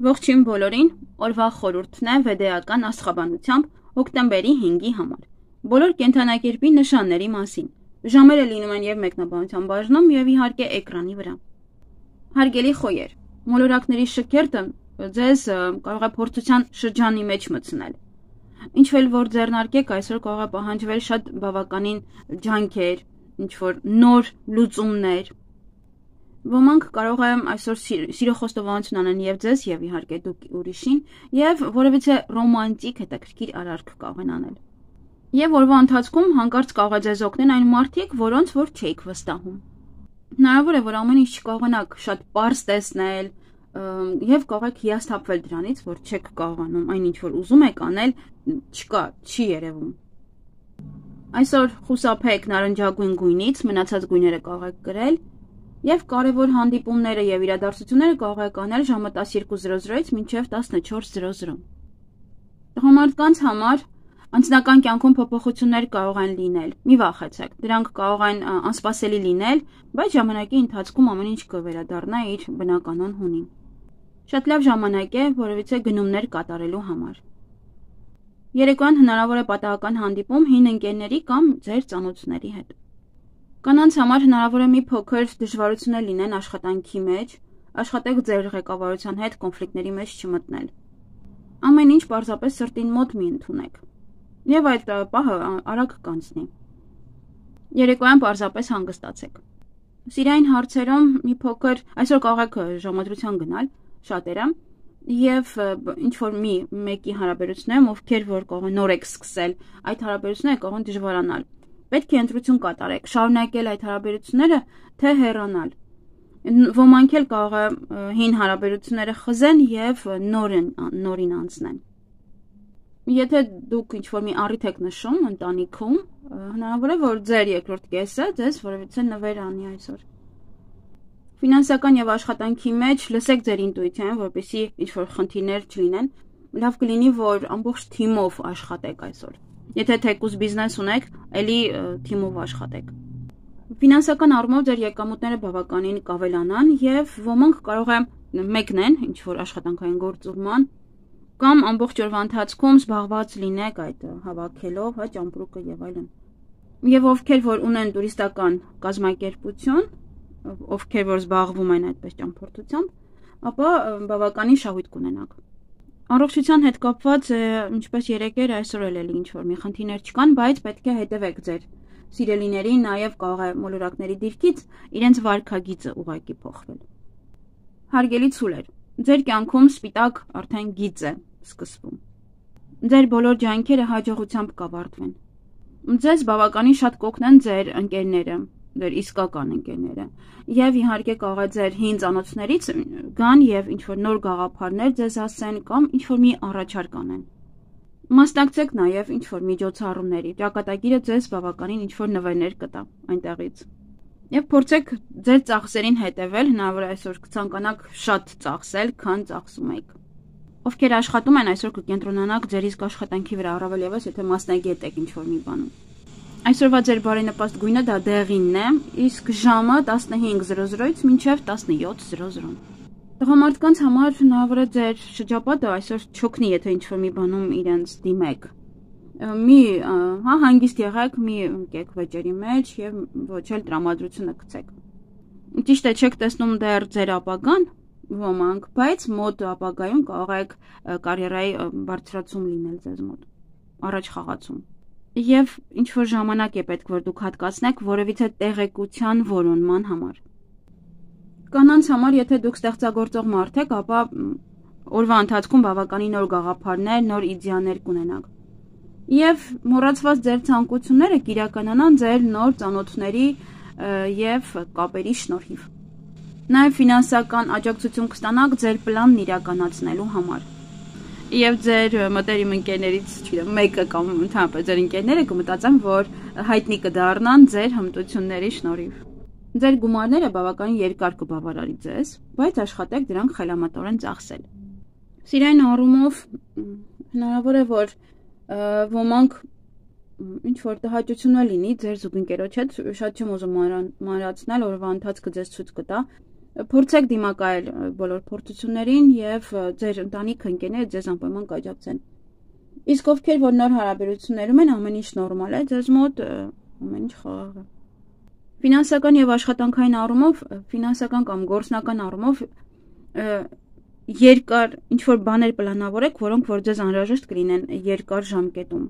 Ողջույն բոլորին, օրվա խորհուրդն է վեդեական աստղաբանությամբ հոկտեմբերի 5-ի համար։ Բոլոր կենդանակերպի նշանների մասին։ Ժամերը լինում են եւ մեկնաբանության բաժնում եւ իհարկե էկրանի վրա։ Հարգելի խոյեր, մոլորակների շքերթը ձեզ կարող է փորձության շրջանի մեջ մտցնել։ Ինչ-որ որ ձեռնարկեք այսօր կարող է պահանջվել շատ բավականին ջանքեր, ինչ-որ նոր լուծումներ։ Ոմանք կարող է այսօր սիրո խոստովանություն անեն եւ ձեզ եւ իհարկե դուք ուրիշին եւ որևիցե ռոմանտիկ հետաքրքիր արարք կարող են անել։ Եվ օրվա ընթացքում հանկարծ կարող է ձեզ օգնեն այն մարդիկ, որոնց որ չէիք վստահում։ Հնարավոր է որ ամեն ինչ չկարողանաք շատ պարզ տեսնել եւ կարող եք հիասթափվել դրանից, որ չեք կարողանում այն ինչ որ ուզում եք անել, չկա, չի երևում։ Այսօր խուսափեք նարնջագույն գույնից, մնացած գույները կարող եք կրել եւ կարևոր հանդիպումները եւ իրադարձությունները կարող եք անել ժամը 12:00-ից մինչեւ 14:00։ Տղամարդկանց համար անձնական կյանքում փոփոխություններ կարող են լինել։ Մի վախեցեք, դրանք կարող են անսպասելի լինել, բայց ժամանակի ընթացքում ամեն ինչ կվերադառնա իր բնականon հունին։ Շատ լավ ժամանակ է որևիցե գնումներ կատարելու համար։ Երեկոյան հնարավոր է պատահական հանդիպում հին ընկերների կամ ձեր ծանոթների հետ։ Կանանց համար հնարավոր է մի փոքր դժվարություններ լինեն աշխատանքի մեջ, աշխատեք ձեր ղեկավարության հետ կոնֆլիկտների մեջ չմտնել։ Ամեն ինչ պարզապես սրտին մոտ մի ընդունեք։ Եվ այդ պահը արագ կանցնի։ Երեկոյան պարզապես հանգստացեք։ Սիրային հարցերում մի փոքր այսօր կարող եք ժամադրության գնալ շատերը եւ ինչ որ մեկի հարաբերություններում, ովքեր որ կարող են նոր եք սկսել, այդ հարաբերությունները կարող են դժվարանալ։ Պետք է ընտրություն կատարեք, շարունակել այդ հարաբերությունները, թե հեռանալ։ Ոմանք էլ կարող է հին հարաբերությունները խզեն եւ նորին անցնեն։ Եթե դուք ինչ-որ մի առիթ եք նշում ընտանիքում, հնարավոր է որ ձեր երկրորդ կեսը ձեզ որևիցե նվեր անի այսօր։ Ֆինանսական եւ աշխատանքի մեջ լսեք ձեր ինտուիցիան, որպեսզի ինչ-որ խնդիրներ չլինեն։ Լավ կլինի, որ ամբողջ թիմով աշխատեք այսօր։ Եթե թեկուզ բիզնես ունեք, ելի թիմով աշխատեք։ Ֆինանսական առումով ձեր եկամուտները բավականին կավելանան եւ ոմանք կարող է մեկնեն ինչ-որ աշխատանքային գործուղման կամ ամբողջ օրվա ընթացքում զբաղված լինեք այդ հավաքելով, ճամպրուկը եւ այլն։ Եվ ովքեր որ ունեն տուրիստական կազմակերպություն, ովքեր որ զբաղվում են այդպես ճամփորդությամբ, ապա բավականին շահույթ կունենաք։ Առողջության հետ կապված ինչպես երեկեր այսօր էլ ինչ որ մի խնդիրներ չկան, բայց պետք է հետևեք ձեր սիրելիներին, նաեւ կարող է մոլորակների դիրքից իրենց վարքագիծը ուղակի փոխվել։ Հարգելի ցուլեր, ձեր կյանքում սպիտակ արդեն գիծ է սկսվում։ Ձեր բոլոր ջանքերը հաջողությամբ կավարտվեն։ Ձեզ բավականին շատ կօգնեն ձեր ընկերները, ձեր իսկական ընկերները, եւ իհարկե կարող է ձեր հին ծանոթներից գան եւ ինչ որ նոր գաղափարներ ձեզ ասեն կամ ինչ որ մի առաջարկ անեն։ Մասնակցեք նաեւ ինչ որ միջոցառումների, ճակատագիրը ձեզ բավականին ինչ որ նվերներ կտա այնտեղից։ Եվ փորձեք ձեր ծախսերին հետևել, հնարավոր է այսօր կցանկանաք շատ ծախսել, քան ծախսում եք։ Ովքեր աշխատում են այսօր կկենտրոնանաք ձեր իսկ աշխատանքի վրա, առավել եւս եթե մասնագետ եք ինչ որ մի բանում։ Այսօրվա ձեր բարենպաստ գույնը դա դեղինն է, իսկ ժամը 15:00-ից մինչև 17:00։ Տղամարդկանց համար հնարավոր է ձեր շրջապատը այսօր չօգնի, եթե ինչ որ մի բանում իրենց դիմեք։ Հանգիստ եղեք, մի ընկեք վեճերի մեջ եւ ոչ էլ տրամադրությունը գցեք։ Ճիշտ է, չեք տեսնում դեռ ձեր ապագան ոմանք, բայց մոտ ապագայում կարող եք կարիերայի բարձրացում լինել ձեզ մոտ, առաջ խաղացում։ Եվ ինչ որ ժամանակ է պետք որ դուք հատկացնեք որևիցե տեղեկության որոնման համար։ Կանանց համար, եթե դուք ստեղծագործող մարդ եք, ապա օրվա ընթացքում բավականին նոր գաղափարներ, նոր իդեաներ կունենաք։ Եվ մոռացված ձեր ցանկությունները կիրականանան ձեր նոր ծանոթների եւ կապերի շնորհիվ։ Նաեւ ֆինանսական աջակցություն կստանաք ձեր պլանն իրականացնելու համար։ Եվ ձեր մտերիմ ընկերներից, չգիտեմ, մեկը կամ ընդհանրապես ձեր ընկերները կմտածեն, որ հայտնի կդառնան ձեր հմտությունների շնորհիվ։ Ձեր գումարները բավականին երկար կբավարարի ձեզ, բայց աշխատեք դրանք խելամտորեն ծախսել։ Սիրային առումով հնարավոր է որ ոմանք ինչ որ տհաճություն լինի ձեր զուգընկերոջ հետ, շատ չեմ ուզում մանրացնել, օրվա ընթացքը ձեզ ցույց կտա, Փորձեք դիմակայել բոլոր փորձություններին եւ ձեր ընտանիքը ընկերները ձեզ անպայման կաջակցեն։ Իսկ ովքեր որ նոր հարաբերություններում են, ամեն ինչ նորմալ է, ձեզ մոտ ամեն ինչ խաղաղ է։ Ֆինանսական եւ աշխատանքային առումով, ֆինանսական կամ գործնական առումով երկար ինչ որ բաներ պլանավորեք, որոնք որ ձեզ անհրաժեշտ կլինեն երկար ժամկետում։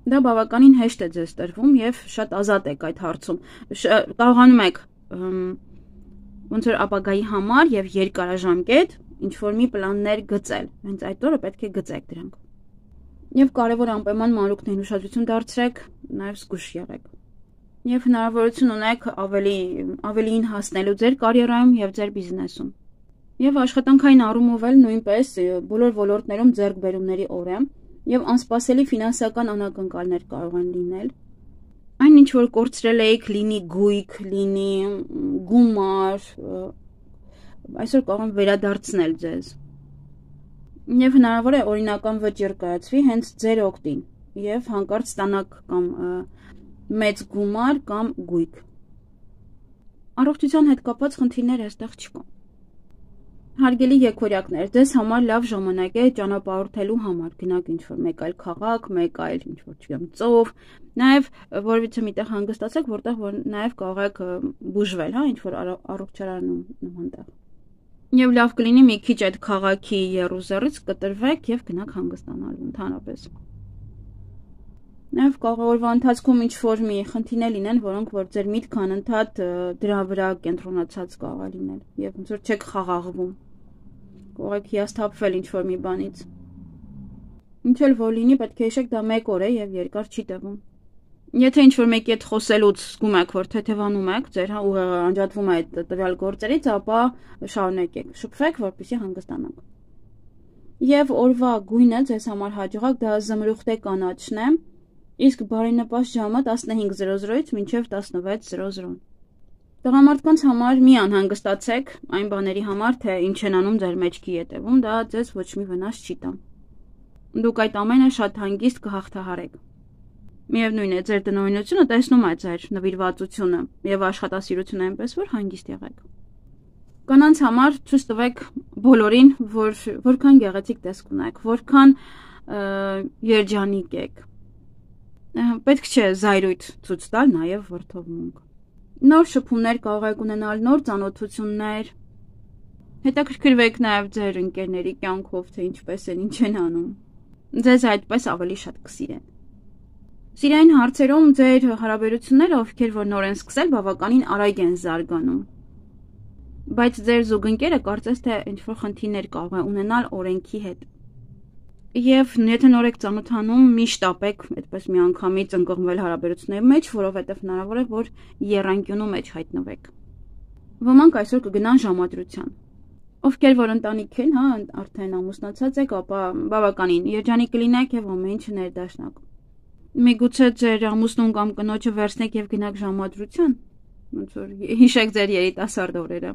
Դա բավականին հեշտ է ձեզ տրվում եւ շատ ազատ եք այդ հարցում։ Կարողանում եք ոնց որ ապագայի համար եւ երկարաժամկետ ինչ որ մի պլաններ գծել։ Հենց այդ օրը պետք է գծեք դրանք։ Եվ կարևոր անպայման մանրուքներին ուշադրություն դարձրեք, նաեւ զգուշ եղեք։ Եվ հնարավորություն ունեք ավելին հասնելու ձեր կարիերայում եւ ձեր բիզնեսում։ Եվ աշխատանքային առումով էլ նույնպես բոլոր ոլորտներում ձեռքբերումների օր է եւ անսպասելի ֆինանսական անակնկալներ կարող են լինել։ Այն ինչ որ կորցրել եք, լինի գույք, լինի գումար, այսօր կարող են վերադարձնել ձեզ։ Եվ հնարավոր է օրինական վճիռ կայացվի հենց ձեր օգտին եւ հանկարծ ստանաք կամ մեծ գումար կամ գույք։ Առողջության հետ կապված խնդիրներ այստեղ չկան։ Հարգելի եկորյակներ, ձեզ համար լավ ժամանակ է ճանապարհորդելու համար, գնաք ինչ-որ մեկ այլ քաղաք, մեկ այլ ինչ-որ չգիտեմ ծով, նաև որևիցե միտեղ հանգստացեք, որտեղ որ նաև կարող եք բուժվել, հա, ինչ-որ առողջարանում նման տեղ։ Եվ լավ կլինի մի քիչ այդ քաղաքի եռուզեռից կտրվեք եւ գնաք հանգստանալու ընդհանրապես։ Նաև կարող օրվա ընթացքում ինչ-որ մի խնդիրներ լինեն, որոնք որ ձեր միտքը անընդհատ դրա վրա կենտրոնացած կարող է լինել եւ ոնց որ չեք խաղաղվում։ Կարող եք հիասթափվել ինչ-որ մի բանից։ Ինչ էլ որ լինի, պետք է հիշեք դա մեկ օր է եւ երկար չի տևում։ Եթե ինչ-որ մեկի հետ խոսելուց զգում եք, որ թեթևանում եք, ձեր ուղեղը անջատվում է այդ տվյալ գործերից, ապա շարունակեք, շփվեք, որպեսզի հանգստանաք։ Եվ օրվա գույնը ձեզ համար հաջողակ դա զմրուխտե կանաչն է, իսկ բարենպաստ ժամը 15:00-ից մինչև 16:00։ Տղամարդկանց համար մի անհանգստացեք այն բաների համար, թե ինչ են անում ձեր մեջքի ետևում, դա ձեզ ոչ մի վնաս չի տա։ Դուք այդ ամենը շատ հանգիստ կհաղթահարեք։ Միևնույն է, ձեր տնօրինությունը տեսնում է ձեր նվիրվածությունը եւ աշխատասիրությունը այնպես, որ հանգիստ եղեք։ Կանանց համար ցույց տվեք բոլորին, որքան գեղեցիկ տեսք ունեք, որքան երջանիկ եք։ Պետք չէ զայրույթ ցույց տալ նաեւ որդովմունք։ Նոր շփումներ կարող եք ունենալ, նոր ծանոթություններ։ Հետաքրքրվեք նաեւ ձեր ընկերների կյանքով, թե ինչպես են, ինչ են անում։ Ձեզ այդպես ավելի շատ կսիրեն։ Սիրային հարցերում ձեր հարաբերությունները, ովքեր որ նոր են սկսել, բավականին արագ են զարգանում։ Բայց ձեր զուգընկերը կարծես թե ինչ-որ խնդիրներ կարող է ունենալ օրենքի հետ։ Եվ եթե նոր եք ծանոթանում, միշտ ապեք այդպես միանգամից ընկղմվել հարաբերությունների մեջ, որովհետև հնարավոր է, որ եռանկյունու մեջ հայտնվեք։ Ոմանք այսօր կգնան ժամադրության։ Ովքեր որ ընտանիք են, հա, արդեն ամուսնացած եք, ապա բավականին երջանիկ կլինեք եւ ամեն ինչ ներդաշնակ։ Միգուցե ձեր ամուսնուն կամ կնոջը վերցնեք եւ գնաք ժամադրության, ոնց որ հիշեք ձեր երիտասարդ օրերը։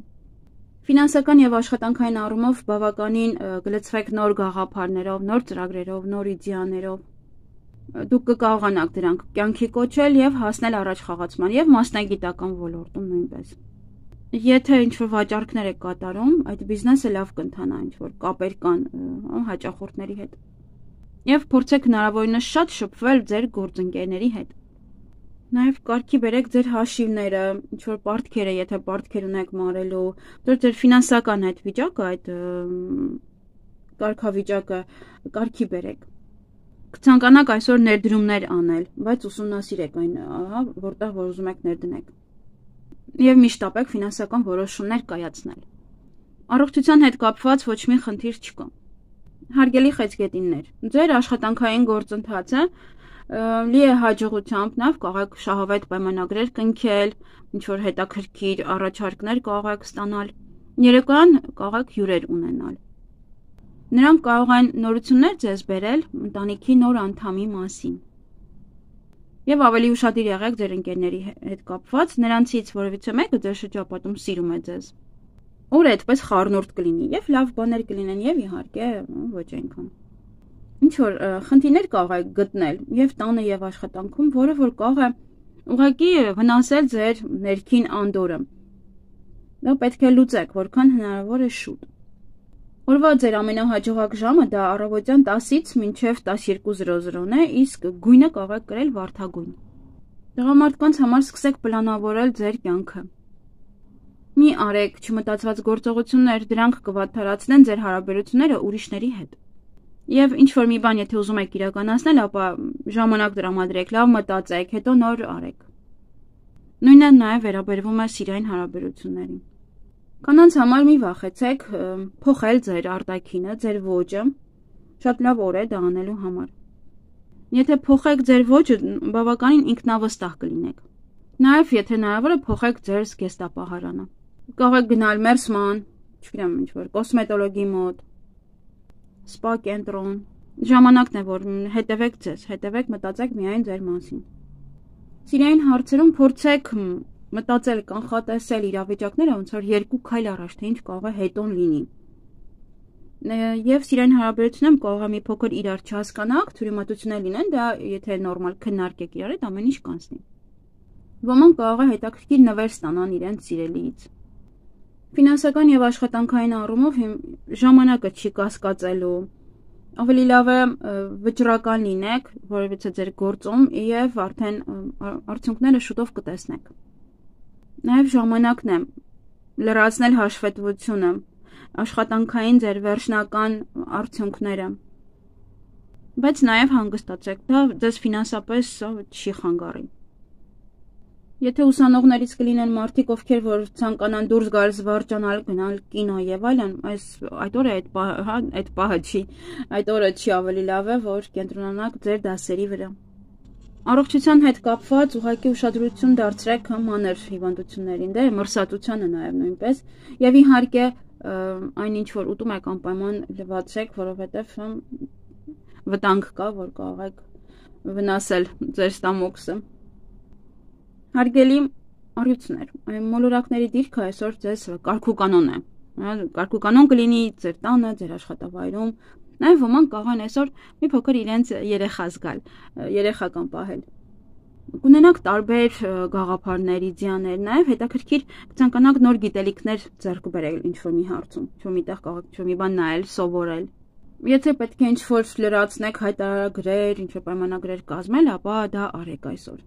Ֆինանսական եւ աշխատանքային առումով բավականին գլցվեք նոր գաղափարներով, նոր ծրագրերով, նոր իդեաներով։ Դուք կկարողանաք դրանք կյանքի կոչել եւ հասնել առաջ խաղացման եւ մասնագիտական ոլորտում նույնպես։ Եթե ինչ-որ վաճառքներ եք կատարում, այդ բիզնեսը լավ կընթանա, ինչ-որ կապեր կան հաճախորդների հետ։ Եվ փորձեք հնարավորինս շատ շփվել ձեր գործընկերների հետ։ Նաև կարգի բերեք ձեր հաշիվները, ինչ-որ պարտքերը, եթե պարտքեր ունեք մարելու, ձեր ֆինանսական այդ վիճակը, այդ կարգավիճակը կարգի բերեք։ Կցանկանաք այսօր ներդրումներ անել, բայց ուսումնասիրեք այն, հա, որտեղ որ ուզում եք ներդնեք։ Եվ միշտ ապեք ֆինանսական որոշումներ կայացնել։ Առողջության հետ կապված ոչ մի խնդիր չկա։ Հարգելի խեցգետիններ, ձեր աշխատանքային գործընթացը լի է հաջողությամբ, նաև կարող եք շահավետ պայմանագրեր կնքել, ինչ-որ հետաքրքիր առաջարկներ կարող եք ստանալ, երեկոյան կարող եք հյուրեր ունենալ։ Նրանք կարող են նորություններ ձեզ բերել ընտանիքի նոր անդամի մասին։ Եվ ավելի ուշադիր եղեք ձեր ընկերների հետ կապված, նրանցից որևիցե մեկը ձեր շրջապատում սիրում է ձեզ։ Օրը այդպես խառնուրդ կլինի եւ լավ բաներ կլինեն եւ իհարկե ոչ այնքան։ Ինչ որ խնդիրներ կարող եք գտնել եւ տանը եւ աշխատանքում, որը որ կարող է ուղղակի վնասել ձեր ներքին անդորրը։ Դա պետք է լուծեք, որքան հնարավոր է շուտ։ Օրվա ձեր ամենահաջողակ ժամը դա առավոտյան 10-ից մինչև 12:00-ն է, իսկ գույնը կարող եք կրել վարդագույն։ Տղամարդկանց համար սկսեք պլանավորել ձեր կյանքը։ Մի արեք չմտածված գործողություններ, դրանք կվատթարացնեն ձեր հարաբերությունները ուրիշների հետ։ Եվ ինչ-որ մի բան, եթե ուզում եք իրականացնել, ապա ժամանակ տրամադրեք, լավ մտածեք, հետո նոր արեք։ Նույնը նաև վերաբերվում է սիրային հարաբերություններին։ Կանանց համար մի վախեցեք փոխել ձեր արտաքինը, ձեր ոճը, շատ լավ օր է դա անելու համար։ Եթե փոխեք ձեր ոճը, բավականին ինքնավստահ կլինեք։ Նաև եթե հնարավոր է փոխեք ձեր զգեստապահարանը։ Կարող եք գնալ մերսման, չգիտեմ ինչ-որ կոսմետոլոգի մոտ, սպա կենտրոն։ Ժամանակն է, որ հետևեք ձեզ, հետևեք, մտածեք միայն ձեր մասին։ Սիրային հարցերում փորձեք մտածել, կանխատեսել իրավիճակները, ոնց որ 2 քայլ առաջ, թե ինչ կարող է հետոն լինի։ Եվ սիրային հարաբերությունում կարող է մի փոքր իրար չհասկանաք, թյուրիմատություններ լինեն, դա եթե նորմալ քննարկեք իրար հետ, ամեն ինչ կանցնի։ Ոմանք կարող է հետաքրքիր նվեր ստանան իրենց սիրելիից։ Ֆինանսական եւ աշխատանքային առումով ժամանակը չի կասկածելու։ Ավելի լավ է վճռական լինեք, որովհետեւ ձեր գործում եւ արդեն արդյունքները շուտով կտեսնեք։ Նաև ժամանակն է լրացնել հաշվետվությունը, աշխատանքային ձեր վերջնական արդյունքները, բայց նաև հանգստացեք, դա ձեզ ֆինանսապես չի խանգարի։ Եթե ուսանողներից կլինեն մարդիկ, ովքեր որ ցանկանան դուրս գալ, զվարճանալ, գնալ կինո եւ այլն, այդ օրը այդ պահը չի, այդ օրը չի ավելի լավ է, որ կենտրոնանաք ձեր դասերի վրա։ Առողջության հետ կապված ուղղակի ուշադրություն դարձրեք մանր հիվանդություններին, դե մրսատությանը նաև նույնպես, եւ իհարկե այն ինչ որ ուտում եք անպայման լվացեք, որովհետեւ վտանգ կա, որ կարող եք վնասել ձեր ստամոքսը։ Հարգելի առյուծներ, մոլորակների դիրքը այսօր ձեզ կարգուկանոն է։ Կարգուկանոն կլինի ձեր տանը, ձեր աշխատավայրում։ Նաև ոմանք կարող են այսօր մի փոքր իրենց երեխա զգալ, երեխական պահել։ Կունենաք տարբեր գաղափարներ, իդեաներ, նաև հետաքրքիր կցանկանաք նոր գիտելիքներ ձեռք բերել ինչ-որ մի հարցում, ինչ-որ միտեղ կարող եք ինչ-որ մի բան նայել, սովորել։ Եթե պետք է ինչ-որ լրացնեք հայտարարագրեր, ինչ-որ պայմանագրեր կազմել, ապա դա արեք այսօր։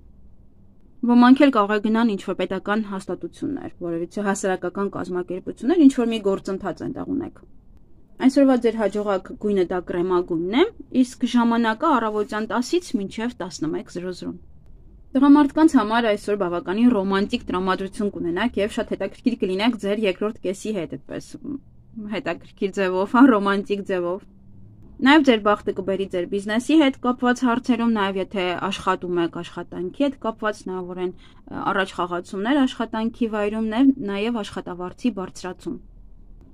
Ոմանք էլ կարող է գնան ինչ-որ պետական հաստատություններ, որովհետեւ հասարակական կազմակերպություններ ինչ-որ մի գործընթաց այնտեղ ունեք։ Այսօրվա ձեր հաջողակ գույնը դա կրեմագույնն է, իսկ ժամանակը առավոտյան 10-ից մինչև 11:00։ Տղամարդկանց համար այսօր բավականին ռոմանտիկ տրամադրություն կունենաք եւ շատ հետաքրքիր կլինեք ձեր երկրորդ կեսի հետ, այդպես հետաքրքիր ձևով, ռոմանտիկ ձևով։ Նաև ձեր բախտը կբերի ձեր բիզնեսի հետ կապված հարցերում, նաև եթե աշխատում եք աշխատանքի հետ կապված, հնարավոր են առաջ խաղացումներ աշխատանքի վայրում, նաև աշխատավարձի բարձրացում։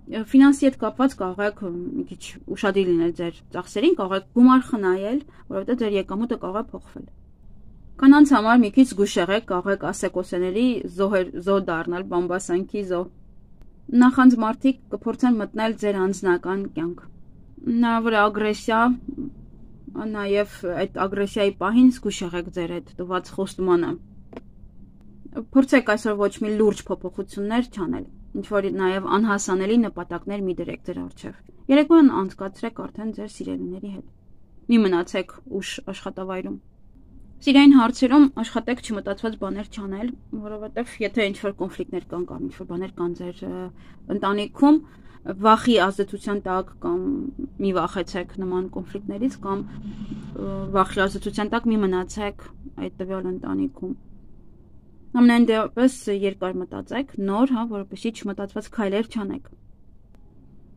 Ֆինանսի հետ կապված կարող եք մի քիչ ուշադիր լինել ձեր ծախսերին, կարող եք գումար խնայել, որովհետև ձեր եկամուտը կարող է փոխվել։ Կանանց համար մի քիչ զգուշ եղեք, կարող եք ասեկոսեների զոհ դառնալ, բամբասանքի զոհ։ Նախանձ մարդիկ կփորձեն մտնել ձեր անձնական կյանք։ Հնարավոր է ագրեսիա, նաև այդ ագրեսիայի պահին զգուշ եղեք ձեր այդ տված խոստմանը։ Փորձեք այսօր ոչ մի լուրջ փոփոխություններ չանել, ինչ որ նաև անհասանելի նպատակներ մի դրեք ձեր առջև։ Երեկոյան անցկացրեք արդեն ձեր սիրելիների հետ։ Մի մնացեք ուշ աշխատավայրում։ Սիրային հարցերում աշխատեք չմտածված բաներ չանել, որովհետև եթե ինչ-որ կոնֆլիկտներ կան կամ ինչ-որ բաներ կան ձեր ընտանիքում, վախի ազդեցության տակ կամ մի վախեցեք նման կոնֆլիկտներից կամ վախի ազդեցության տակ մի մնացեք այդ տվյալ ընտանիքում։ Ամենայն դեպս երկար մտածեք, նոր, որովհետեւ չմտածված քայլեր չանեք։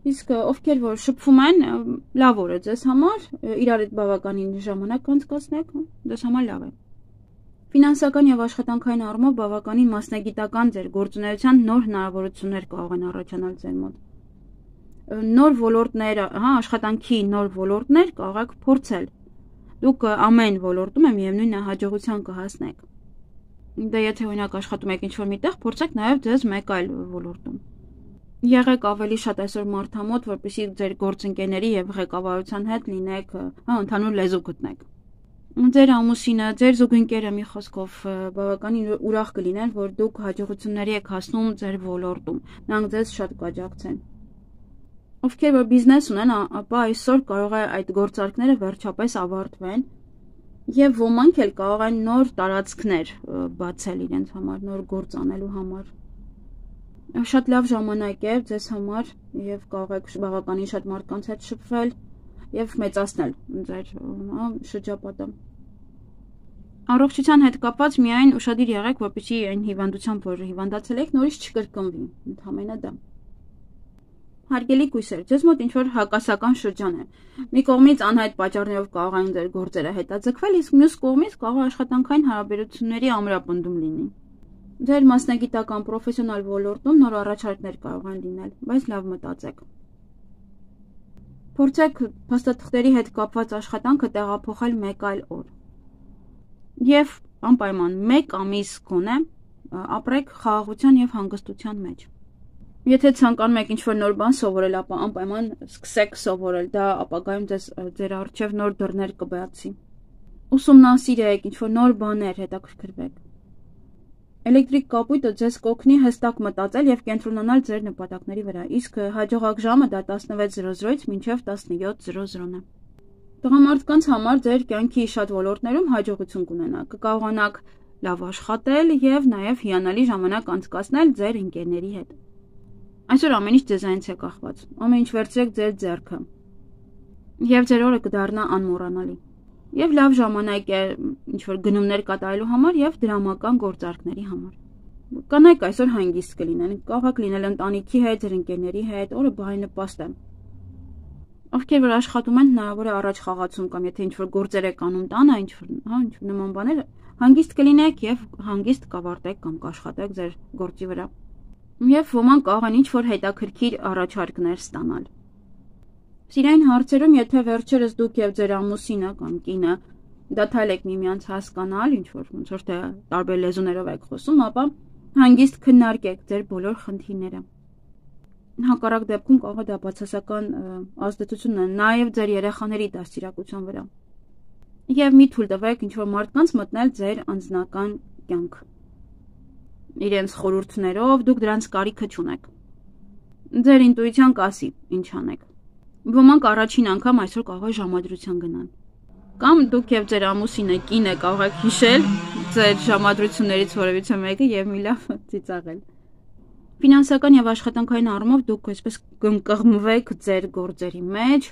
Իսկ ովքեր որ շփվում են, լավ օր է ձեզ համար, իրար հետ բավականին ժամանակ անցկացնեք, ձեզ համար լավ է։ Ֆինանսական եւ աշխատանքային առումով բավականին մասնագիտական ձեր գործունեության նոր հնարավորություններ կարող են առաջանալ ձեր մոտ։ Նոր ոլորտներ, աշխատանքի նոր ոլորտներ կարող եք փորձել։ Դուք ամեն ոլորտում միևնույն է հաջողության կհասնեք։ Դե եթե օրինակ աշխատում եք ինչ-որ միտեղ, փորձեք նաեւ ձեզ մեկ այլ ոլորտում։ Եղեք ավելի շատ այսօր մարդամոտ, որպեսզի ձեր գործընկերների եւ ղեկավարության հետ լինեք, ընդհանուր լեզու գտնեք։ Ձեր ամուսինը, ձեր զուգընկերը մի խոսքով բավականին ուրախ կլինեն, որ դուք հաջողությունների եք հասնում ձեր ոլորտում, նրանք ձեզ շատ կաջակցեն։ Ովքեր որ բիզնես ունեն, ապա այսօր կարող է այդ գործարքները վերջապես ավարտվեն եւ ոմանք էլ կարող են նոր տարածքներ բացել իրենց համար, նոր գործ անելու համար։ Շատ լավ ժամանակ է ձեզ համար եւ կարող եք բավականին շատ մարդկանց հետ շփվել եւ մեծացնել ձեր շրջապատը։ Առողջության հետ կապված միայն ուշադիր եղեք, որպեսզի այն հիվանդությամբ, որ հիվանդացել եք, նորից չկրկնվի, ընդհանրապես դա։ Հարգելի կույսեր, ձեզ մոտ ինչ-որ հակասական շրջան է։ Մի կողմից անհայտ պատճառներով կարող են ձեր գործերը հետաձգվել, իսկ մյուս կողմից կարող է աշխատանքային հարաբերությունների ամրապնդում լինի։ Ձեր մասնագիտական պրոֆեսիոնալ ոլորտում նոր առաջարկներ կարող են լինել, բայց լավ մտածեք։ Փորձեք փաստաթղթերի հետ կապված աշխատանքը տեղափոխել մեկ այլ օր։ Եվ անպայման 1 ամիս գոնե ապրեք խաղաղության եւ հանգստության մեջ։ Եթե ցանկանում եք ինչ-որ նոր բան սովորել, ապա անպայման սկսեք սովորել, դա ապագայում ձեր առջև նոր դռներ կբացի։ Ուսումնասիրեք ինչ-որ նոր բաներ, հետաքրքրվեք։ Էլեկտրիկ կապույտը ձեզ կօգնի հստակ մտածել եւ կենտրոնանալ ձեր նպատակների վրա, իսկ հաջողակ ժամը դա 16:00-ից մինչև 17:00-ն է։ Տղամարդկանց համար ձեր կյանքի շատ ոլորտներում հաջողություն կունենաք, կկարողանաք լավ աշխատել եւ նաեւ հիանալի ժամանակ անցկացնել ձեր ընկերների հետ։ Այսօր ամեն ինչ ձեզանից է կախված, ամեն ինչ վերցրեք ձեր ձեռքը եւ ձեր օրը կդառնա անմոռանալի։ Եվ լավ ժամանակ է ինչ-որ գնումներ կատարելու համար եւ դրամական գործարքների համար։ Կանայք այսօր հանգիստ կլինեն, կարող եք լինել ընտանիքի հետ, ձեր ընկերների հետ, օրը բարենպաստ է։ Ովքեր որ աշխատում են, հնարավոր է առաջ խաղացում կամ եթե ինչ-որ գործեր եք անում տանը, ինչ-որ նման բաներ, հանգիստ կլինեք եւ հանգիստ կավարտեք կամ կաշխատեք ձեր գործի վրա։ Եվ ոմանք կարող են ինչ-որ հետաքրքիր առաջարկներ ստանալ։ Սիրային հարցերում, եթե վերջերս դուք եւ ձեր ամուսինը կամ կինը դադարել եք միմյանց հասկանալ, ինչ-որ ոնց որ թե տարբեր լեզուներով եք խոսում, ապա հանգիստ քննարկեք ձեր բոլոր խնդիրները։ Հակառակ դեպքում կարող է դա բացասական ազդեցություն ունենա նաեւ ձեր երեխաների դաստիարակության վրա։ Եվ մի թույլ տվեք ինչ-որ մարդկանց մտնել ձեր անձնական կյանք։ Իրենց խորհուրդներով դուք դրանց կարիքը չունեք։ Ձեր ինտուիցիան կասի, ինչ անեք։ Ոմանք առաջին անգամ այսօր կարող է ժամադրության գնան։ Կամ դուք եւ ձեր ամուսինը կինը կարող եք հիշել ձեր ժամադրություններից որևիցե մեկը եւ մի լավ ծիծաղել։ Ֆինանսական եւ աշխատանքային առումով դուք այսպես կըղմվեք ձեր գործերի մեջ,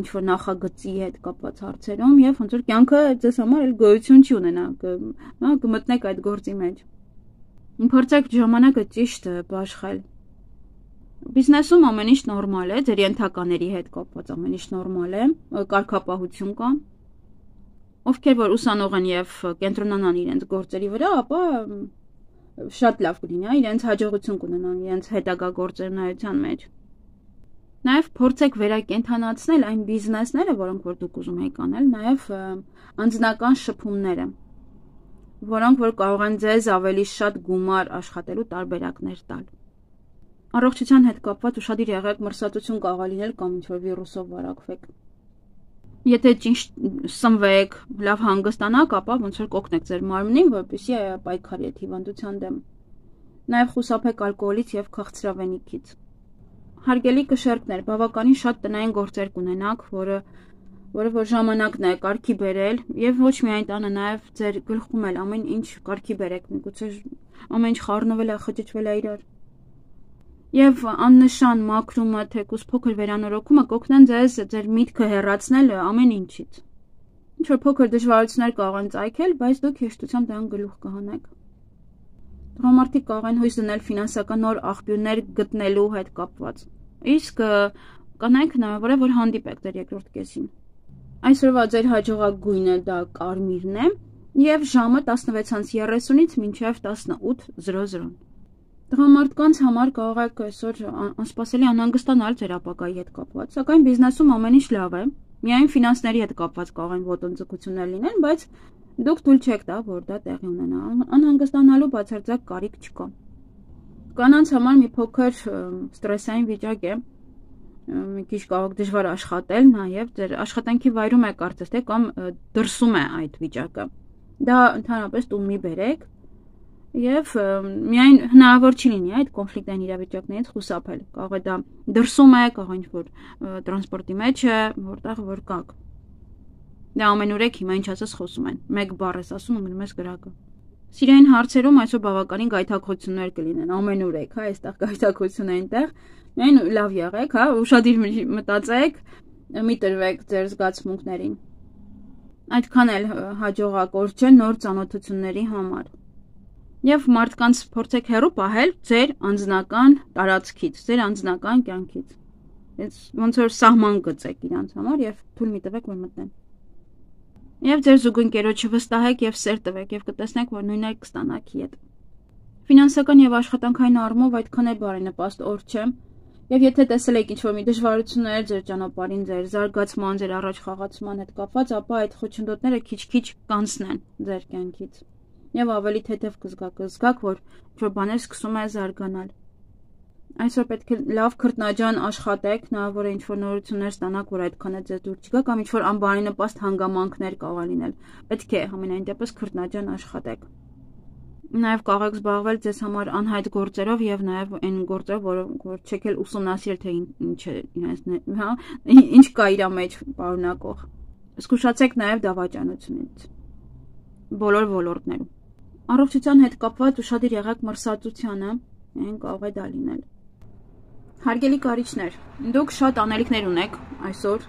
ինչ որ նախագծի հետ կապված հարցերում եւ ոնց որ կյանքը ձեզ համար էլ գոյություն չի ունենա, կմտնեք այդ գործի մեջ։ Փորձեք ժամանակը ճիշտ բաշխել։ Բիզնեսում ամեն ինչ նորմալ է, ձեր ենթակաների հետ կապված ամեն ինչ նորմալ է, կարգապահություն կա։ Ովքեր որ ուսանող են եւ կենտրոնանան իրենց գործերի վրա, ապա շատ լավ կլինի, իրենց հաջողություն կունենան իրենց հետագա գործունեության մեջ։ Նաեւ փորձեք վերակենդանացնել այն բիզնեսները, որոնք որ դուք ուզում եք անել, նաեւ անձնական շփումները, որոնք որ կարող են ձեզ ավելի շատ գումար աշխատելու տարբերակներ տալ։ Առողջության հետ կապված ուշադիր եղեք, մրսածություն կարող է լինել կամ ինչ-որ վիրուսով վարակվեք։ Եթե ճիշտ սնվեք, լավ հանգստանաք, ապա ոնց որ կօգնեք ձեր մարմնին, որպեսզի պայքարի այդ հիվանդության դեմ։ Նաև խուսափեք ալկոհոլից եւ քաղցրավենիքից։ Հարգելի կշերկներ, բավականին շատ տնային գործեր կունենաք, որը որ ժամանակն է կարգի բերել եւ ոչ միայն տանը, նաեւ ձեր գլխում էլ ամեն ինչ կարգի բերեք, միգուցե ամեն ինչ խառնվել է, խճճվել է իրար։ Եվ աննշան մաքրումը, թեկուզ փոքր վերանորոգումը կօգնեն ձեզ ձեր միտքը հեռացնել ամեն ինչից։ Ինչ որ փոքր դժվարություններ կարող են ծագել, բայց դուք հեշտությամբ դրան գլուխ կհանեք։ Տղամարդիկ կարող են հույս դնել ֆինանսական նոր աղբյուրներ գտնելու հետ կապված։ Իսկ կանայք հնարավոր է որ հանդիպեք ձեր երկրորդ կեսին։ Այսօրվա ձեր հաջողակ գույնը դա կարմիրն է եւ ժամը 16:30-ից մինչեւ 18:00։ Տղամարդկանց համար կարող եք այսօր անսպասելի անհանգստանալ ձեր ապագայի հետ կապված, սակայն բիզնեսում ամեն ինչ լավ է։ Միայն ֆինանսների հետ կապված կարող են ոտնձգություններ լինել, բայց դուք թույլ չեք տա, որ դա տեղի ունենա։ Անհանգստանալու բացարձակ կարիք չկա։ Կանանց համար մի փոքր ստրեսային վիճակ է, մի քիչ կարող դժվար աշխատել, նաև ձեր աշխատանքի վայրում է կարծես թե կամ դրսում է այդ վիճակը։ Դա ընդհանրապես տուն մի բերեք եւ միայն հնարավոր չի լինի այդ կոնֆլիկտային իրավիճակներից խուսափել։ Կարող է դա դրսում է, կարող է ինչ-որ տրանսպորտի մեջ է, որտեղ որ կաք։ Դա ամենուրեք հիմա ինչ ասես խոսում են։ Մեկ բառ ես ասում ու գնում ես գրակը։ Սիրային հարցերում այսօր բավականին գայթակղություններ կլինեն, ամենուրեք, հա, այստեղ գայթակղություն է այնտեղ։ Միայն լավ եղեք, հա, ուշադիր մտածեք, մի տրվեք ձեր զգացմունքներին։ Այդքան էլ հաջողակոր չէ նոր ծանոթությունների համար։ Եվ մարդկանց փորձեք հեռու պահել ձեր անձնական տարածքից, ձեր անձնական կյանքից։ Ոնց որ սահման գծեք իրանց համար եւ թույլ մի տվեք, որ մտնեն։ Եվ ձեր զուգընկերոջը վստահեք եւ սեր տվեք եւ կտեսնեք, որ նույնն էլ կստանաքի հետ։ Ֆինանսական եւ աշխատանքային առումով այդքան էլ բարենպաստ օր չէ։ Եվ եթե տեսել եք ինչ-որ մի դժվարություններ ձեր ճանապարհին, ձեր զարգացման, ձեր առաջ խաղացման հետ կապված, ապա այդ խոչընդոտները քիչ-քիչ կանցնեն ձեր կյանքից։ Եվ ավելի թեթև կզգաք, որ ինչ-որ բաներ սկսում է զարգանալ։ Այսօր պետք է լավ քրտնաջան աշխատեք, հնարավոր է ինչ-որ նորություններ ստանաք, որ այդքան է ձեզ դուր չգա, կամ ինչ-որ անբարենպաստ հանգամանքներ կարող լինել։ Պետք է համենայն դեպս քրտնաջան աշխատեք։ Նաև կարող եք զբաղվել ձեզ համար անհայտ գործերով եւ նաև այն գործերով, որ չեք էլ ուսումնասիրել, թե ինչ է իրենց, հա, ինչ կա իր մեջ պարունակող։ Զգուշացեք նաև դավաճանությունից բոլոր ոլորտներում։ Առողջության հետ կապված ուշադիր եղեք մրսածությանը, այն կարող է դա լինել։ Հարգելի կարիճներ, դուք շատ անելիքներ ունեք այսօր,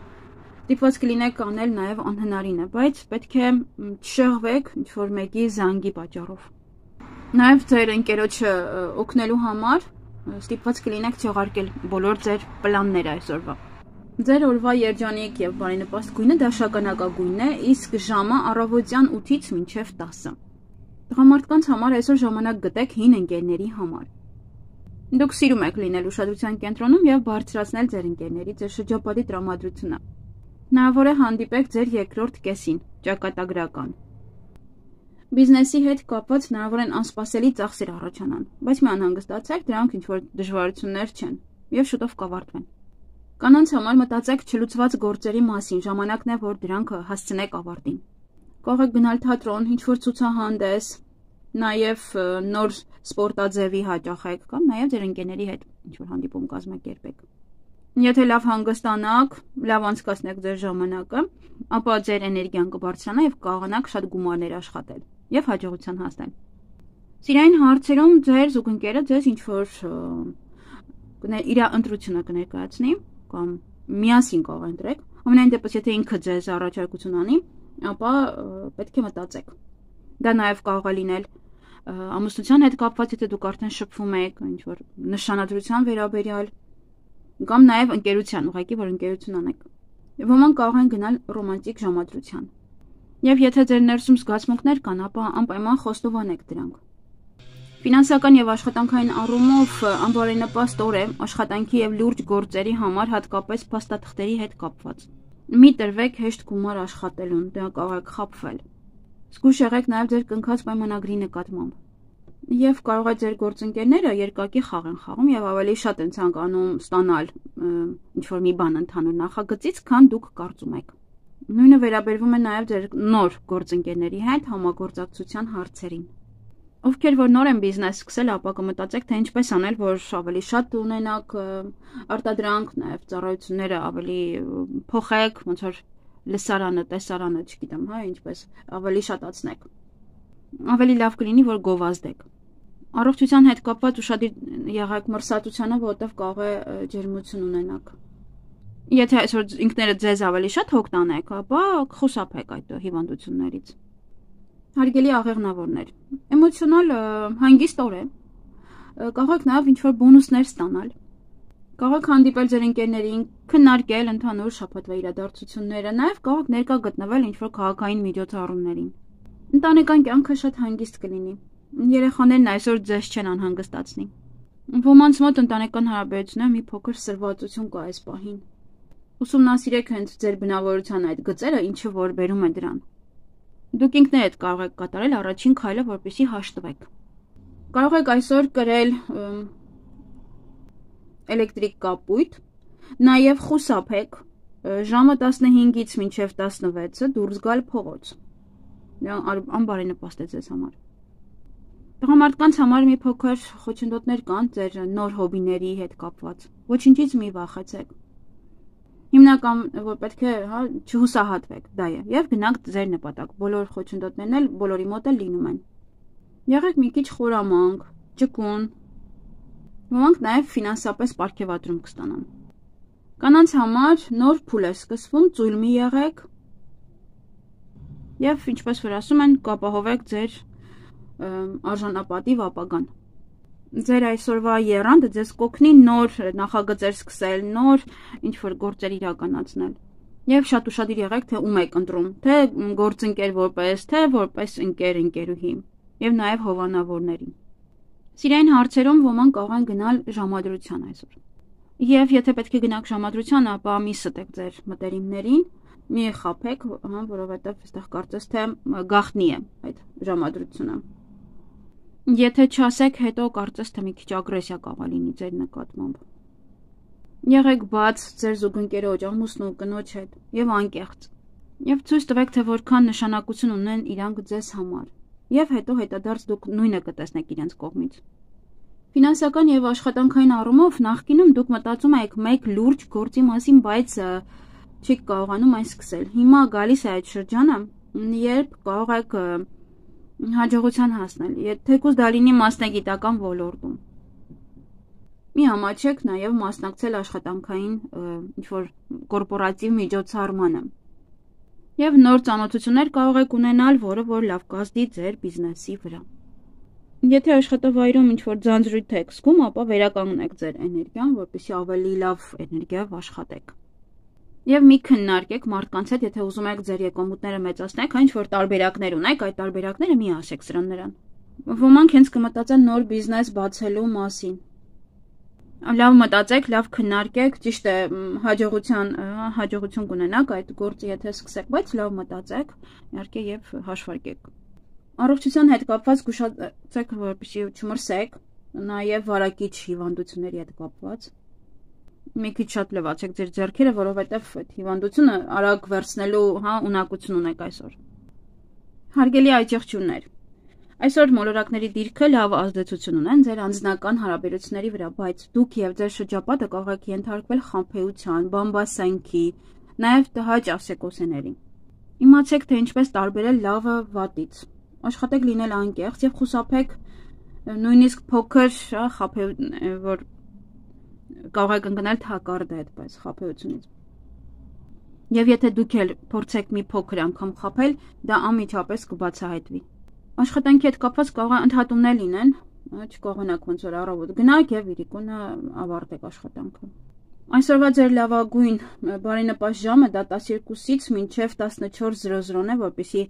ստիպված կլինեք անել նաև անհնարինը, բայց պետք է չշեղվեք ինչ-որ մեկի զանգի պատճառով։ Նաև ձեր ընկերոջը օգնելու համար ստիպված կլինեք չեղարկել բոլոր ձեր պլանները այսօրվա։ Ձեր օրվա երջանիկ եւ բարենպաստ գույնը դաշնականակագույնն է, իսկ ժամը առավոտյան 8-ից մինչև 10։ Տղամարդկանց համար այսօր ժամանակ գտեք հին ընկերների համար։ Դուք սիրում եք լինել ուշադրության կենտրոնում եւ բարձրացնել ձեր ընկերների, ձեր շրջապատի տրամադրությունը։ Հնարավոր է հանդիպեք ձեր երկրորդ կեսին, ճակատագրական։ Բիզնեսի հետ կապված հնարավոր են անսպասելի ծախսեր առաջանան, բայց մի անհանգստացեք, դրանք ինչ-որ դժվարություններ չեն եւ շուտով կավարտվեն։ Կանանց համար մտածեք չլուծված գործերի մասին, ժամանակն է, որ դրանք հասցնեք ավարտին։ Կարող եք գնալ թատրոն, ինչ-որ ցուցահանդես, նաեւ նոր սպորտաձևի հաճախեք կամ նաեւ ձեր ընկերների հետ ինչ-որ հանդիպում կազմակերպեք։ Եթե լավ հանգստանաք, լավ անցկացնեք ձեր ժամանակը, ապա ձեր էներգիան կբարձրանա եւ կարողանաք շատ գումարներ աշխատել եւ հաջողության հասնել։ Սիրային հարցերում ձեր զուգընկերը ձեզ ինչ-որ իր ընտրությունը կներկայացնի կամ միասին կարող ընտրեք։ Ամենայն դեպս եթե ինքը ձեզ առաջարկություն անի, ապա պետք է մտածեք։ Դա նաեւ կարող է լինել ամուսնության հետ կապված, եթե դուք արդեն շփվում եք, ինչ-որ նշանադրության վերաբերյալ կամ նաև ընկերության, ուղղակի որ ընկերություն անեք։ Ոմանք կարող են գնալ ռոմանտիկ ժամադրության։ Եվ եթե ձեր ներսում զգացմունքներ կան, ապա անպայման խոստովանեք դրանք։ Ֆինանսական եւ աշխատանքային առումով անբարենպաստ օր է աշխատանքի եւ լուրջ գործերի համար, հատկապես փաստաթղթերի հետ կապված։ Մի տրվեք հեշտ գումար աշխատելուն, դա կարող է խաբվել։ Զգույշ եղեք նաև ձեր կնքած պայմանագրի նկատմամբ։ Եվ կարող է ձեր գործընկերները երկակի խաղ են խաղում եւ ավելի շատ են ցանկանում ստանալ ինչ-որ մի բան ընդհանուր նախագծից, քան դուք կարծում եք։ Նույնը վերաբերվում է նաև ձեր նոր գործընկերների հետ համագործակցության հարցերին։ Ովքեր որ նոր են բիզնես սկսել, ապա կմտածեք, թե ինչպես անել, որ ավելի շատ ունենաք արտադրանք, նաև ծառայությունները ավելի փոխեք, ոնց որ լսարանը, տեսարանը, չգիտեմ, հա, ինչպես ավելի շատացնեք։ Ավելի լավ կլինի, որ գովազդեք։ Առողջության հետ կապված ուշադիր եղեք մրսածությանը, որովհետև կարող է ջերմություն ունենաք։ Եթե այսօր ինքներդ ձեզ ավելի շատ հոգ տանեք, ապա խուսափեք այդ հիվանդություններից։ Հարգելի աղեղնավորներ, էմոցիոնալ հանգիստ օր է։ Կարող եք նաև ինչ-որ բոնուսներ ստանալ։ Կարող եք հանդիպել ձեր ընկերներին, քննարկել ընդհանուր շաբաթվա իրադարձությունները, նաև կարող եք ներկա գտնվել ինչ-որ քաղաքային միջոցառումներին։ Ընտանեկան կյանքը շատ հանգիստ կլինի։ Երեխաներն այսօր ձեզ չեն անհանգստացնի։ Ոմանց մոտ ընտանեկան հարաբերությունները մի փոքր սրվածություն կա այս պահին։ Ուսումնասիրեք հենց ձեր բնավորության այդ գծերը, ինչը որ բերում է դրան։ Դուք ինքներդ կարող եք կատարել առաջին քայլը, որպեսզի հաշտվեք։ Կարող եք այսօր կրել էլեկտրիկ կապույտ, Նաև խուսափեք ժամը 15-ից մինչև 16-ը դուրս գալ փողոց։ Անբարենպաստ է ձեզ համար։ Տղամարդկանց համար մի փոքր խոչընդոտներ կան ձեր նոր հոբիների հետ կապված։ Ոչինչից մի վախեցեք։ Հիմնական որ պետք է չհուսահատվեք, դա է, եւ գնանք ձեր նպատակ։ Բոլոր խոչընդոտներն էլ բոլորի մոտ էլ լինում են։ Եղեք մի քիչ խորամանկ, ճկուն։ Ոմանք նաև ֆինանսապես պարգևատրում կստանան։ Կանանց համար նոր փուլ է սկսվում, ծույլ մի եղեք։ Եվ ինչպես որ ասում են, կապահովեք ձեր արժանապատիվ ապագան։ Ձեր այսօրվա եռանդը ձեզ կօգնի նոր նախագծեր սկսել, նոր ինչ-որ գործեր իրականացնել։ Եվ շատ ուշադիր եղեք, թե ում եք ընտրում, թե գործընկեր որպես, թե որպես ընկերուհի, եւ նաեւ հովանավորներին։ Սիրային հարցերում ոմանք կարող են գնալ ժամադրության այսօր։ Եվ եթե պետք է գնաք ժամադրության, ապա մի ստեք ձեր մտերիմներին, մի խաբեք, որովհետեւ այստեղ կարծես թե գաղտնի է այդ ժամադրությունը։ Եթե չասեք, հետո կարծես թե մի քիչ ագրեսիա կարող լինի ձեր նկատմամբ։ Եղեք բաց ձեր զուգընկերոջ, ամուսնու, կնոջ հետ եւ անկեղծ։ Եվ ցույց տվեք, թե որքան նշանակություն ունեն իրանք ձեզ համար։ Եվ հետո հետադարձ դուք նույնը կտեսնեք իրենց կողմից։ Ֆինանսական եւ աշխատանքային առումով նախկինում դուք մտածում եք մեկ լուրջ գործի մասին, բայց չեք կարողանում այն սկսել։ Հիմա գալիս է այդ շրջանը, երբ կարող եք հաջողության հասնել, թեկուզ դա լինի մասնագիտական ոլորտում։ Մի համաչեք նաև մասնակցել աշխատանքային ինչ-որ կորպորատիվ միջոցառմանը։ Եվ նոր ծանոթություններ կարող եք ունենալ, որը որ լավ կազդի ձեր բիզնեսի վրա։ Եթե աշխատավայրում ինչ-որ ձանձրույթ եք զգում, ապա վերականգնեք ձեր էներգիան, որպեսզի ավելի լավ էներգիայով աշխատեք։ Եվ մի քննարկեք մարդկանց հետ, եթե ուզում եք ձեր եկամուտները մեծացնեք, այն ինչ-որ տարբերակներ ունեք, այդ տարբերակները մի ասեք սրան նրան։ Ոմանք հենց կմտածեն նոր բիզնես բացելու մասին։ Լավ մտածեք, լավ քննարկեք, ճիշտ է, հաջողություն կունենաք այդ գործը, եթե սկսեք, բայց լավ մտածեք, իհարկե եւ հաշվարկեք։ Առողջության հետ կապված զգուշացեք, որպեսզի չմրսեք, նաեւ վարակիչ հիվանդությունների հետ կապված։ Մի քիչ շատ լվացեք ձեր ձեռքերը, որովհետեւ այդ հիվանդությունը արագ վերցնելու, ունակություն ունեք այսօր։ Հարգելի այջեղջյուններ, այսօր մոլորակների դիրքը լավ ազդեցություն ունեն ձեր անձնական հարաբերությունների վրա, բայց դուք եւ ձեր շրջապատը կարող եք ենթարկվել խաբեության, բամբասանքի, նաեւ տհաճ ասեկոսեների։ Իմացեք, թե ինչպես տարբերել լավը վատից։ Աշխատեք լինել անկեղծ եւ խուսափեք նույնիսկ փոքր որ կարող եք ընկնել թակարդ այդպես խաբեությունից։ Եվ եթե դուք էլ փորձեք մի փոքր անգամ խաբել, դա անմիջապես կբացահայտվի։ Աշխատանքի հետ կապված կարող է ընդհատումներ լինեն, չկողմնաք ոնց որ առավոտ գնաք եւ իրիկունը ավարտեք աշխատանքը։ Այսօրվա ձեր լավագույն բարենպաստ ժամը դա 12-ից մինչև 14:00-ն է, որպեսզի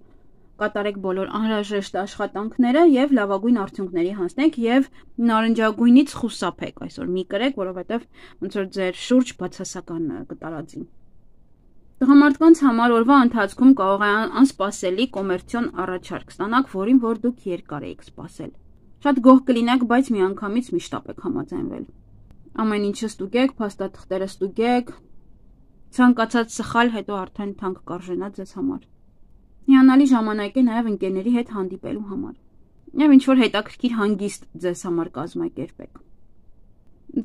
կատարեք բոլոր անհրաժեշտ աշխատանքները եւ լավագույն արդյունքների հասնեք եւ նարնջագույնից խուսափեք այսօր մի կրեք, որովհետեւ ոնց որ ձեր շուրջ բացասական կտարածի։ Տղամարդկանց համար օրվա ընթացքում կարող է անսպասելի կոմերցիոն առաջարկ ստանաք, որին որ դուք երկար եք սպասել։ Շատ գոհ կլինեք, բայց միանգամից միշտ եք համաձայնվել։ Ամեն ինչը ստուգեք, փաստաթղթերը ստուգեք, ցանկացած սխալ հետո արդեն թանկ կարժենա ձեզ համար։ Հիանալի ժամանակ է նաև ընկերների հետ հանդիպելու համար։ Եվ ինչ-որ հետաքրքիր հանգիստ ձեզ համար կազմակերպեք։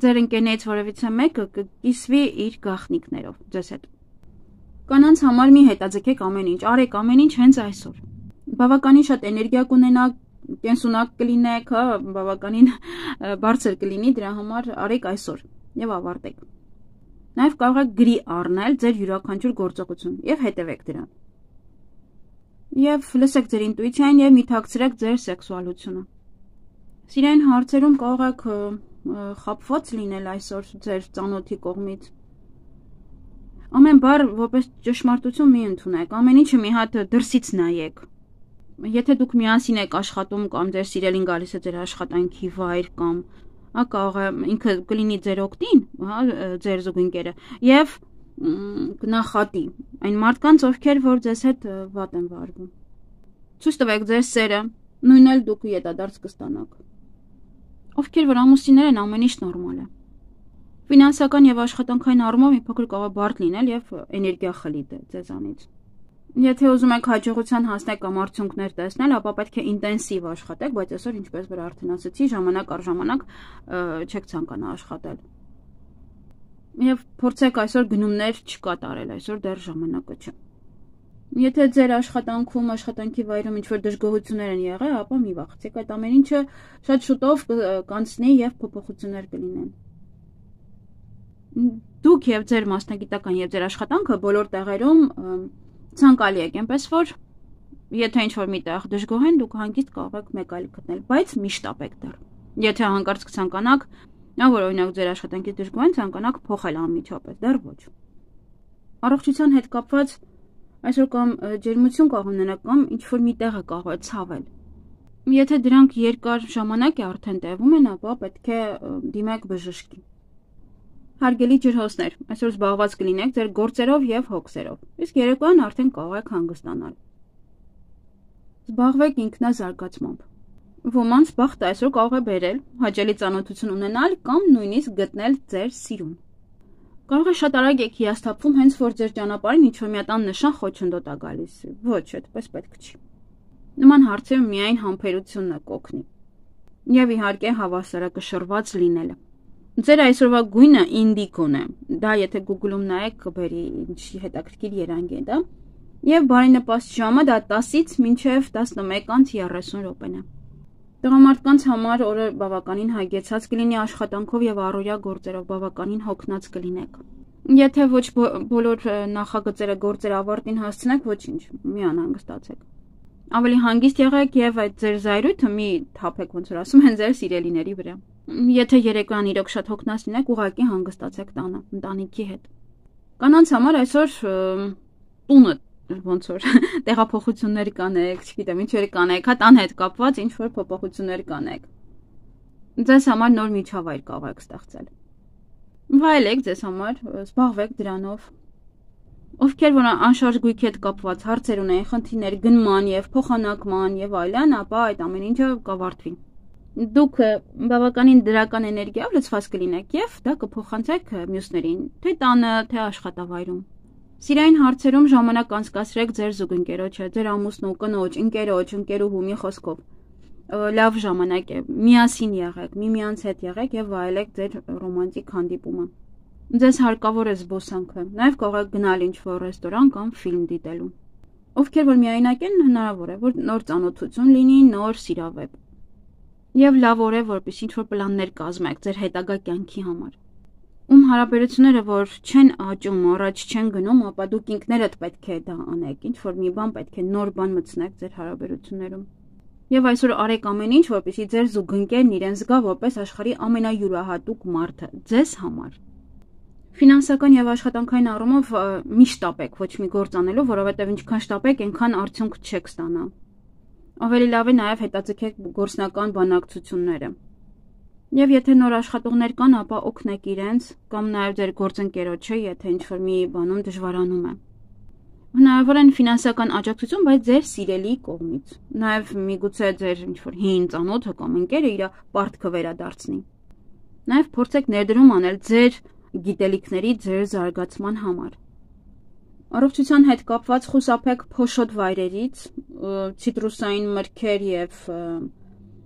Ձեր ընկերներից որևիցե մեկը կկիսվի իր գաղտնիքներով ձեզ հետ։ Կանանց համար մի հետաձգեք ամեն ինչ, արեք ամեն ինչ հենց այսօր։ Բավականին շատ էներգիա կունենաք, կենսունակ կլինեք, բավականին բարձր կլինի, դրա համար արեք այսօր եւ ավարտեք։ Նաև կարող եք գրի առնել ձեր յուրաքանչյուր գործողություն եւ հետևեք դրան։ Եվ լսեք ձեր ինտուիցիան եւ մի թաքցրեք ձեր սեքսուալությունը։ Սիրային հարցերում կարող եք խաբված լինել այսօր ձեր ծանոթի կողմից։ Ամեն բառ որպես ճշմարտություն մի ընդունեք, ամեն ինչը մի հատ դրսից նայեք։ Եթե դուք միասին եք աշխատում կամ ձեր սիրելին գալիս է ձեր աշխատանքի վայր կամ կարող է ինքը կլինի ձեր օգտին, ձեր զուգընկերը, եւ կնախատի այն մարդկանց, ովքեր որ ձեզ հետ վատ են վարվում։ Ցույց տվեք ձեր սերը, նույնն էլ դուք ետադարձ կստանաք։ Ովքեր որ ամուսիններ են, ամեն ինչ նորմալ է։ Ֆինանսական եւ աշխատանքային առումով մի փոքր կարող է բարդ լինել եւ էներգիա խլի ձեզանից։ Եթե ուզում եք հաջողության հասնել կամ արդյունքներ տեսնել, ապա պետք է ինտենսիվ աշխատեք, բայց այսօր ինչպես որ արդեն ասացի, ժամանակ առ ժամանակ չեք ցանկանա աշխատել։ Եվ փորձեք այսօր գնումներ չկատարել, այսօր դեռ ժամանակը չէ։ Եթե ձեր աշխատանքում, աշխատանքի վայրում ինչ-որ դժգոհություններ են եղել, ապա մի վախեցեք, այդ ամեն ինչը շատ շուտով կանցնի եւ փոփոխություններ կլինեն։ Դուք եւ ձեր մասնագիտական եւ ձեր աշխատանքը բոլոր տեղերում ցանկալի եք, այնպես որ եթե ինչ-որ միտեղ դժգոհ են, դուք հանգիստ կարող եք մեկ այլ գտնել, բայց միշտ ապեք դեռ։ Եթե հանկարծ կցանկանաք, որ օրինակ ձեր աշխատանքից դժգոհ են, ցանկանաք փոխել անմիջապես, դեռ ոչ։ Առողջության հետ կապված այսօր կամ ջերմություն կարող ունենաք կամ ինչ-որ մի տեղը կարող է ցավել։ Եթե դրանք երկար ժամանակ է արդեն տևում են, ապա պետք է դիմեք բժշկի։ Հարգելի ջրհոսներ, այսօր զբաղված կլինեք ձեր գործերով եւ հոգսերով, իսկ երեկոյան արդեն կարող եք հանգստանալ։ Զբաղվեք ինքնազարգացմամբ։ Ոմանց բախտը այսօր կարող է բերել հաճելի ծանոթություն ունենալ կամ նույնիսկ գտնել ձեր սիրուն։ Կարող է շատ արագ եք հիասթափվում, հենց որ ձեր ճանապարհին ինչ-որ մի հատ նշան խոչընդոտ է գալիս։ Ոչ, այդպես պետք չի։ Նման հարցերում միայն համբերությունն է կօգնի։ Եվ իհարկե հավասարակշռված լինելը։ Ձեր այսօրվա գույնը ինդիկոն է։ Դա եթե Google-ում նայեք, կբերի ինչ հետաքրքիր երանգ է դա։ Եվ բարենպաստ ժամը դա 10-ից մինչև 11:30 րոպեն է։ Տղամարդկանց համար օրը բավականին հագեցած կլինի աշխատանքով եւ առօրյա գործերով բավականին հոգնած կլինեք։ Եթե ոչ բոլոր նախագծերը գործեր ավարտին հասցնեք, ոչինչ, մի անհանգստացեք։ Ավելի հանգիստ եղեք եւ այդ ձեր զայրույթը մի թափեք, ոնց որ ասում են, ձեր սիրելիների վրա։ Եթե երեկոյան իրոք շատ հոգնած լինեք, ուղղակի հանգստացեք տանը, ընտանիքի հետ։ Կանանց համար այսօր տունը ոնց որ տեղափոխություններ կանեք, չգիտեմ, ինչ-որ կանեք, հա տան հետ կապված ինչ-որ փոփոխություններ կանեք։ Ձեզ համար նոր միջավայր կարող եք ստեղծել։ Վայելեք ձեզ համար, զբաղվեք դրանով։ Ովքեր որ անշարժ գույքի հետ կապված հարցեր ունեն, խնդիրներ գնման եւ փոխանակման եւ այլն, ապա այդ ամեն ինչը կավարտվի։ Դուք բավականին դրական էներգիայով լցված կլինեք եւ դա կփոխանցեք մյուսներին, թե տանը, թե աշխատավայրում։ Սիրային հարցերում ժամանակ անցկացրեք ձեր զուգընկերոջը, ձեր ամուսնու, կնոջ, ընկերոջ, ընկերուհու մի խոսքով։ Լավ ժամանակ է, միասին եղեք, միմյանց հետ եղեք եւ վայելեք ձեր ռոմանտիկ հանդիպումը։ Ձեզ հարկավոր է զբոսանքը, նաեւ կարող եք գնալ ինչ-որ ռեստորան կամ ֆիլմ դիտելու։ Ովքեր որ միայնակ են, հնարավոր է, որ նոր ծանոթություն լինի, նոր սիրավեպ։ Եվ լավ օր է, որպես ինչ-որ պլաններ կազմեք ձեր հետագա կյանքի համար։ Ում հարաբերությունները որ չեն աճում, առաջ չեն գնում, ապա դուք ինքներդ պետք է դա անեք, ինչ-որ մի բան պետք է նոր բան մտցնեք ձեր հարաբերություններում։ Եվ այսօր արեք ամեն ինչ, որպեսզի ձեր զուգընկերն իրեն զգա որպես աշխարհի ամենայուրահատուկ մարդը ձեզ համար։ Ֆինանսական եւ աշխատանքային առումով միշտ շտապեք ոչ մի գործ անելու, որովհետեւ ինչքան շտապեք, այնքան արդյունք չեք ստանա։ Ավելի լավ է նաեւ հետաձգեք գործնական բանակցությունները։ Եվ եթե նոր աշխատողներ կան, ապա օգնեք իրենց կամ նաեւ ձեր գործընկերոջը, եթե ինչ-որ մի բանում դժվարանում է։ Հնարավոր է ֆինանսական աջակցություն, բայց ձեր սիրելի կողմից։ Նաեւ միգուցե ձեր ինչ-որ հին ծանոթը կամ ընկերը իր պարտքը վերադարձնի։ Նաեւ փորձեք ներդրում անել ձեր գիտելիքների ձեր զարգացման համար։ Առողջության հետ կապված խուսափեք փոշոտ վայրերից, ցիտրուսային մրգեր եւ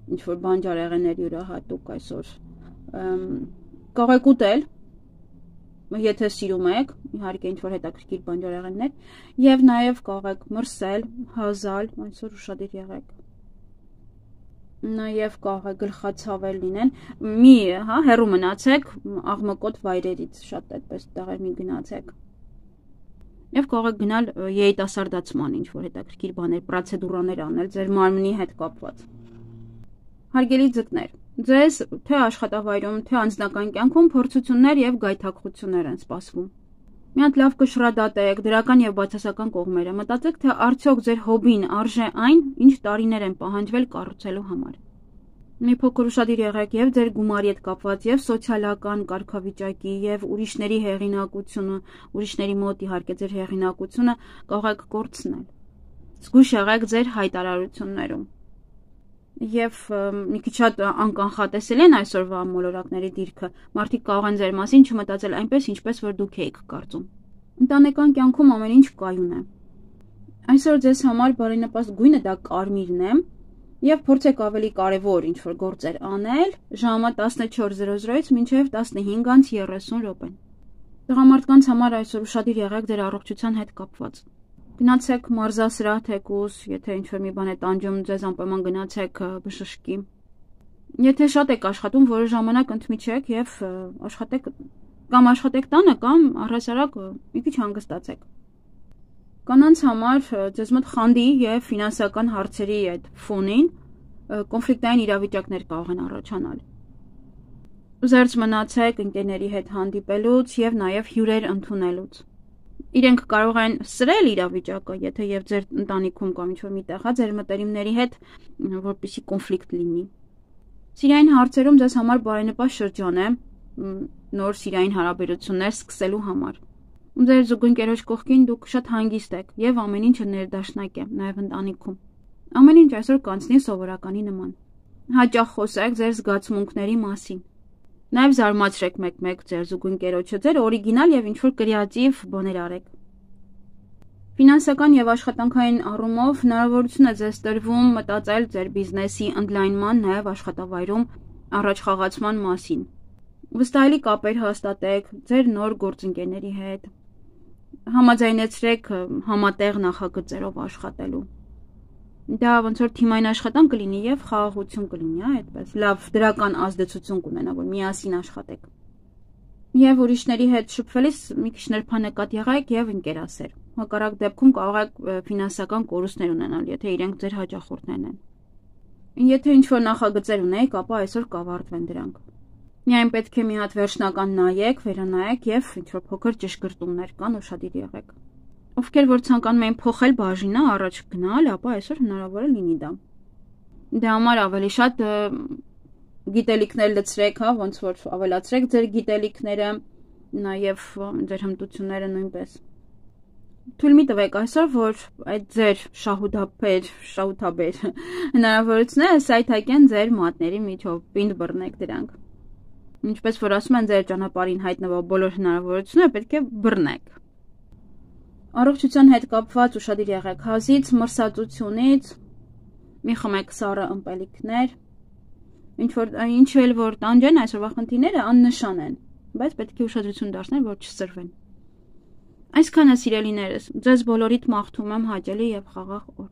ինչ-որ բանջարեղեններ յուրահատուկ այսօր կարող եք ուտել, եթե սիրում եք, իհարկե ինչ-որ հետաքրքիր բանջարեղեններ, եւ նաեւ կարող եք մրսել, հազալ, այսօր ուշադիր եղեք։ Նաեւ կարող է գլխացավեր լինեն, մի հեռու մնացեք աղմկոտ վայրերից, շատ այդպես տեղեր մի գնացեք։ Եվ կարող եք գնալ երիտասարդացման ինչ-որ հետաքրքիր բաներ, պրոցեդուրաներ անել ձեր մարմնի հետ կապված։ Հարգելի ձկներ, ձեզ թե աշխատավայրում, թե անձնական կյանքում փորձություններ եւ գայթակղություններ են սպասվում։ Մի հատ լավ կշռադատեք դրական եւ բացասական կողմերը, մտածեք, թե արդյոք ձեր հոբին արժե այն, ինչ տարիներ են պահանջվել կառուցելու համար։ Մի փոքր ուշադիր եղեք եւ ձեր գումարի հետ կապված եւ սոցիալական կարգավիճակի եւ ուրիշների հեղինակությունը, ուրիշների մոտ իհարկե ձեր հեղինակությունը կարող եք կորցնել։ Զգույշ եղեք ձեր հայտարարություններում։ Եվ մի քիչ շատ անկանխատեսելի են այսօրվա մոլորակների դիրքը։ Մարդիկ կարող են ձեր մասին չմտածել այնպես, ինչպես որ դուք եք կարծում։ Ընտանեկան կյանքում ամեն ինչ կայուն է։ Այսօր ձեզ համար բարենպաստ գույնը դա կարմիրն է, եւ փորձեք ավելի կարևոր ինչ-որ գործեր անել ժամը 14:00-ից մինչև 15:30 րոպեն։ Տղամարդկանց համար այսօր ուշադիր եղեք ձեր առողջության հետ կապված։ Գնացեք մարզասրահ թեկուզ, եթե ինչ-որ մի բան է տանջում, ձեզ անպայման գնացեք բժշկի։ Եթե շատ եք աշխատում, որոշ ժամանակ ընդմիջեք եւ աշխատեք տանը կամ առհասարակ մի քիչ հանգստացեք։ Կանանց համար ձեզ մոտ խանդի եւ ֆինանսական հարցերի այդ ֆոնին կոնֆլիկտային իրավիճակներ կարող են առաջանալ։ Զերծ մնացեք ընկերների հետ հանդիպելուց եւ նաեւ հյուրեր ընդունելուց։ Իրենք կարող են սրել իրավիճակը, եթե եւ ձեր ընտանիքում կամ ինչ-որ միտեղ ձեր մտերիմների հետ որպեսզի կոնֆլիկտ լինի։ Սիրային հարցերում ձեզ համար բարենպաստ շրջան է նոր սիրային հարաբերություններ սկսելու համար։ Ձեր զուգընկերոջ կողքին դուք շատ հանգիստ եք եւ ամեն ինչը ներդաշնակ է, նաեւ ընտանիքում։ Ամեն ինչ այսօր կանցնի սովորականի նման։ Հաճախ խոսեք ձեր զգացմունքների մասին։ Նաև զարմացրեք մեկ-մեկ ձեր զուգընկերոջը, ձեր օրիգինալ եւ ինչ-որ կրեատիվ բաներ արեք։ Ֆինանսական եւ աշխատանքային առումով հնարավորություն է ձեզ տրվում մտածել ձեր բիզնեսի ընդլայնման, նաեւ աշխատավայրում առաջխաղացման մասին։ Վստահելի կապեր հաստատեք ձեր նոր գործընկերների հետ։ Համաձայնեցրեք համատեղ նախագծերով աշխատելու։ Դա ոնց որ թիմային աշխատանք կլինի եւ խաղաղություն կլինի, այդպես լավ դրական ազդեցություն կունենա, որ միասին աշխատեք։ Եվ ուրիշների հետ շփվելիս մի քիչ նրբանկատ եղեք եւ ընկերասեր։ Հակառակ դեպքում կարող եք ֆինանսական կորուստներ ունենալ, եթե իրենք ձեր հաճախորդներն են։ Եթե ինչ-որ նախագծեր ունեք, ապա այսօր կավարտվեն դրանք։ Միայն պետք է մի հատ վերջնական նայեք, վերանայեք եւ ինչ-որ փոքր ճշգրտումներ կան, ուշադիր եղեք։ Ովքեր որ ցանկանում են փոխել բաժինը, առաջ գնալ, ապա այսօր հնարավոր է լինի դա։ Դրա համար ավելի շատ գիտելիքներ լցրեք, ոնց որ ավելացրեք ձեր գիտելիքները, նաև ձեր հմտությունները նույնպես։ Թույլ մի տվեք այսօր, որ այդ ձեր շահութաբեր հնարավորությունները սայթակեն ձեր մատների միջով, պինդ բռնեք դրանք։ Ինչպես որ ասում են, ձեր ճանապարհին հայտնվող բոլոր հնարավորությունները պետք է բռնեք։ Առողջության հետ կապված ուշադիր եղեք հազից, մրսածությունից, մի խմեք սառը ըմպելիքներ, ինչ էլ որ տանջեն այսօրվա խնդիրները աննշան են, բայց պետք է ուշադրություն դարձնել, որ չսրվեն։ Այսքանը սիրելիներս, ձեզ բոլորիդ մաղթում եմ հաճելի եւ խաղաղ օր։